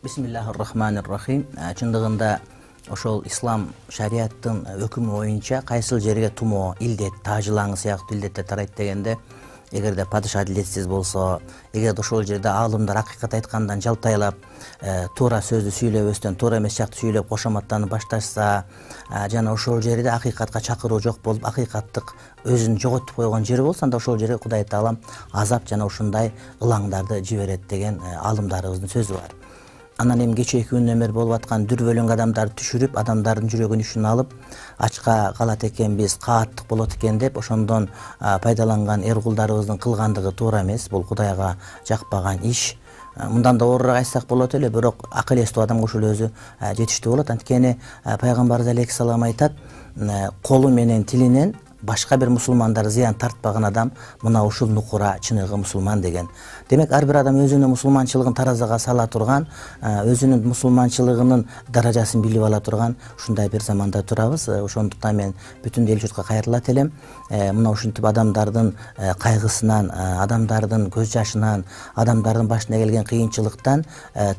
Бисмиллахир-рахманир-рахим. Чындыгында ошол ислам шариаттын өкүмү боюнча кайсыл жерге тумоо, илдет, тажылаңы сыяктуу илдеттер тарайт дегенде, эгерде падыша адилетсиз болсо, эгерде ошол жерде аалымдар акыйкат айткандан жалтайлап, туура сөздү сүйлөбөстөн, туура эмес жакты сүйлөп кошоматтанып башташса, жана ошол жерде акыйкатка чакыруу жок болуп, акыйкаттык өзүн жоготуп койгон жери болсо, анда ошол жерге Кудай Таалам азап жана ушундай ылаңдарды жиберет деген аалымдарыбыздын сөзү бар. Анан эми кечээки күндөн бери болуп аткан дүрбөлөң адамдарды түшүрүп, адамдардын жүрөгүн ишин алып, ачка калат экенбиз, кааттык болот экен деп, ошондон пайдаланган эр кулдарыбыздын кылгандыгы туура эмес. Бул Кудайга жакпаган иш. Мындан да оорураак айтсак болот эле, бирок акыл эстүү адамга ушул өзү жетиштүү болот. Анткени пайгамбарыбыз алейхиссалам айтат, колу менен тилинен башка бир мусулмандар зыян тартпаган адам мына ушул нукура чыныгы мусулман деген. Демек, ар бир адам өзүнүн мусулманчылыгын таразага сала турган, өзүнүн мусулманчылыгынын даражасын билип ала турган ушундай бир заманда турабыз. Ошондуктан мен бүтүн эл журтка кайрылат элем. Мына ушинтип адамдардын кайгысынан, адамдардын көз жашынан, адамдардын башына келген кыйынчылыктан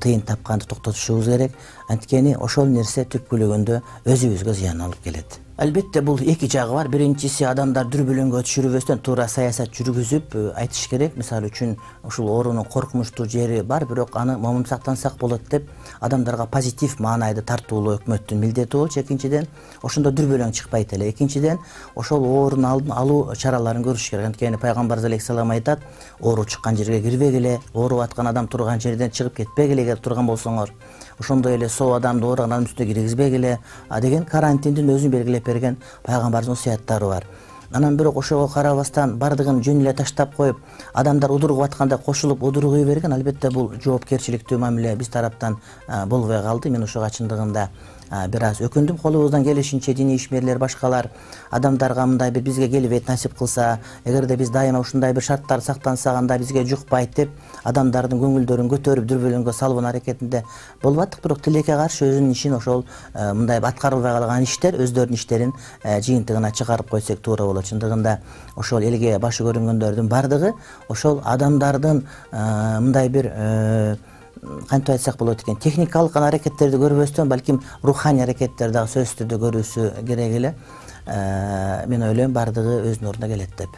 тыйын тапканды токтотушубуз керек. Анткени ошол нерсе түпкүлүгүндө өзүбүзгө зыян алып келет. Албетте, бул эки жагы бар. Биринчиси, адамдар дүрбөлөңгө түшүрбөстөн туура саясат жүргүзүп айтыш керек. Мисалы үчүн, ушул оорунун коркунучтуу жери бар, бирок аны момун сактансак болот деп адамдарга позитив маанайды тартуулоо өкмөттүн милдети болчу. Экинчиден, ошондо дүрбөлөң чыкпайт эле. Экинчиден, ошол оорунун алдын алуу чараларын көрүш керек. Анткени пайгамбарыбыз алейхиссалам айтат, оору чыккан жерге кирбегиле, ооруп аткан адам турган жерден чыгып кетпегиле эгер турган болсоңор. Ошондой эле соо адамды ооруган адамдын үстүнө киргизбегиле деген карантиндин өзүн белгилеп берген пайгамбардын осуяттары бар. Анан бирок ошого карабастан бардыгын жөн эле таштап коюп, адамдар удуругуп атканда кошулуп удуругуй берген, албетте бул жоопкерчиликтүү мамиле биз тараптан болбой калды. Мен ошого чындыгында бир аз өкүндүм. Колубуздан келишинче диний ишмерлер, башкалар адамдарга мындай бир бизге келбейт насип кылса, эгерде биз дайыма ушундай бир шарттарды сактансак, анда бизге жукпайт деп адамдардын көңүлдөрүн көтөрүп дүрбөлөңгө салуунун аракетинде болуп аттык. Бирок тилекке каршы өзүнүн ишин ошол мындай аткарылбай калган иштер өздөрүнүн иштерин жыйынтыгына чыгарып койсок туура болот. Чындыгында ошол элге башы көрүнгөндөрдүн бардыгы ошол адамдардын мындай бир кантип айтсак болот экен, техникалык аракеттерди көрбөстөн, балким руханий аракеттерди дагы сөзсүз түрдө көрүүсү керек эле. Мен ойлойм, бардыгы өзүнүн ордуна келет деп.